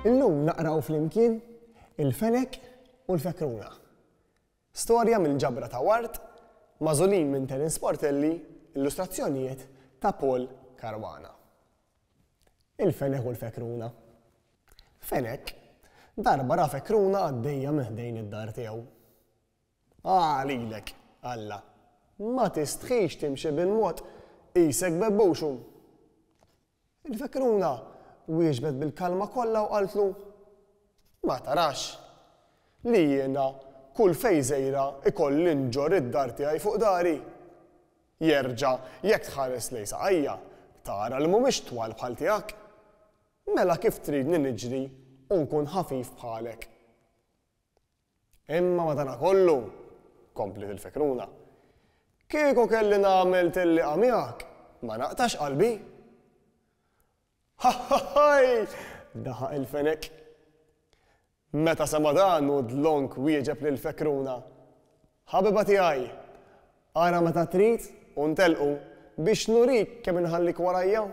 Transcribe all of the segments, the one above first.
Illum naqraw flimkien Il-Fenek u l-Fekruna. Storja mill-ġabra ta' Ward, magħżulin minn Terence Portelli, illustrazzjonijiet ta' Paul Caruana. Il-Fenek u l-Fekruna. Fenek darba ra fekruna għaddejja minn ħdejn id-dar tiegħu. Ah, lilek, Alla, ma tistħix timxi bil-mod, qisek bebbuxu. Il-fekruna wieġbet bil-kalma kollha u qaltlu, Ma tarax li jiena kull fejn sejra ikolli nġorr id-dar tiegħi fuq dari? Jerġa' jekk tħares lejn saqajja, tara li mhumiex twal bħal tiegħek. Mela kif tridni niġri u nkun ħafif bħalek? Imma madanakollu, kompliet il-fekruna, kieku kelli nagħmel tellieqa miegħek, ma naqtax qalbi. Ħaħħaħħaj! daħaq il-fenek. Meta sema' dan hu dlonk wieġeb lill-fekruna, Ħabiba tiegħi, ara meta trid u ntellqu biex nurik kemm inħallik warajja.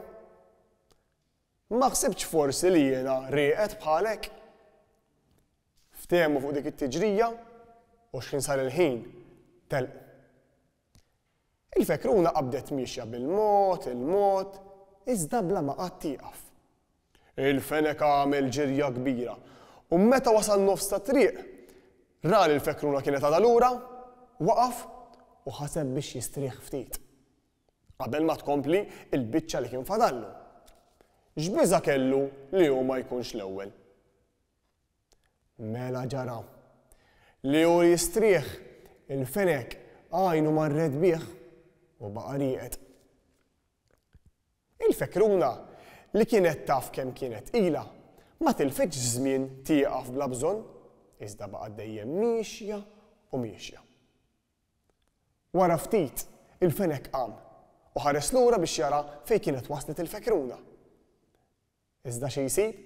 Ma ħsibtx forsi li jiena rieqed bħalek? Ftehmu fuq dik it-tiġrija u x'ħin sar il-ħin, telqu. Il-fekruna qabdet miexja bil-mod, il-mod, iżda bla ma qatt tieqaf. Il-fenek għamel ġirja kbira u meta wasal nofs tat-triq, ra li l-fekruna kienet għadha lura, waqaf u ħaseb biex jistrieħ ftit. Qabel ma tkompli l-biċċa li kien fadallu. X'biża' kellu li hu ma jkunx l-ewwel. Mela ġara. Li hu jistrieħ, il-fenek għajnu marret bih u baqa' rieqed. Il-fekruna, li kienet taf kemm kienet tqila, ma tilfitx żmien tieqaf bla bżonn, iżda baqgħet dejjem miexja u miexja. Wara ftit, il-fenek qam u ħares lura biex jara fejn kienet waslet il-fekruna. Iżda xi jsib?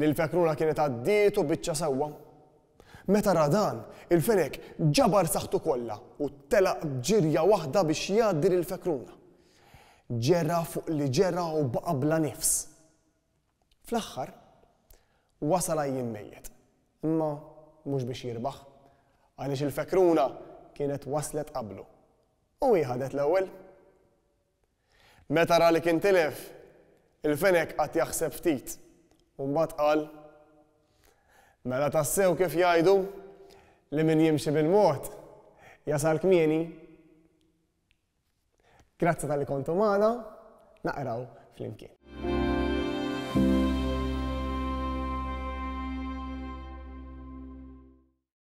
Li l-fekruna kienet għaddietu biċċa sewwa. Meta ra dan, il-fenek ġabar saħħtu kollha u telaq b'ġirja waħda biex jgħaddi lill-fekruna. Ġera fuq li ġera u baqa' bla nifs. Fl-aħħar, wasal għajjien mejjet, imma mhux biex jirbaħ, għaliex il-fekruna kienet waslet qablu u hi ħadet l-ewwel. Meta ra li kien tilef, il-fenek qagħad jaħseb ftit u mbagħad qal, Mela tassew kif jgħidu li min jimxi bil-mod jasal kmieni. Grazzi talli kontu magħna, naqraw flimkien.